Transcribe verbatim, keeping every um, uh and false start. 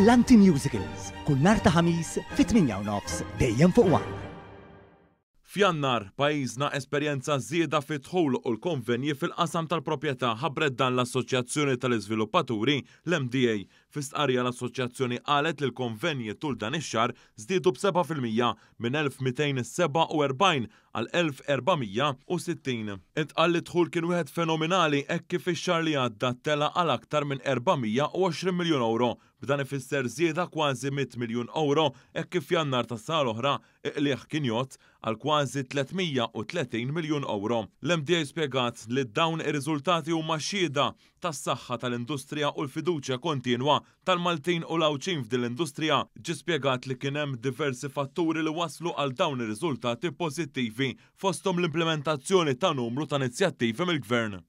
Brillanti Musicals, kull nhar ta' Ħamis fit-tmienja u nofs dejjem fuq One. F'Jannar, pajjiżna esperjenza żieda fid-dħul u l-konvenji fil-qasam tal-proprjetà, ħabbret dan l-Assoċjazzjoni tal-Iżviluppaturi, l-M D A. Fi stqarrija, l-Assoċjazzjoni qalet li l-konvenji tul dan ix-xahar żdiedu b'sebgħa fil-mija minn elf mitejn sebgħa u erbgħin għal elf erba' mija u sittin. Intqal li dħul kien wieħed fenomenali hekk kif ix-xahar li għadda tela għal aktar minn erba' mija u għoxrin miljun euro. B'dan ifisser żieda kważi mitt miljun euro hekk kif Jannar tas-sena l-oħra il-qligħ kien jgħodd għal kważi tliet mija u tletin miljun euro. L-M D A spjegat li dawn ir-riżultati huma xhieda tas-saħħa tal-industrija u l-fiduċja kontinwa tal-Maltin u l-Għawdxin f'din l-industrija. Ġi spjegat li kien hemm diversi fatturi li waslu għal dawn ir-riżultati pożittivi, fosthom l-implementazzjoni ta' numru ta' inizjattivi mill-Gvern.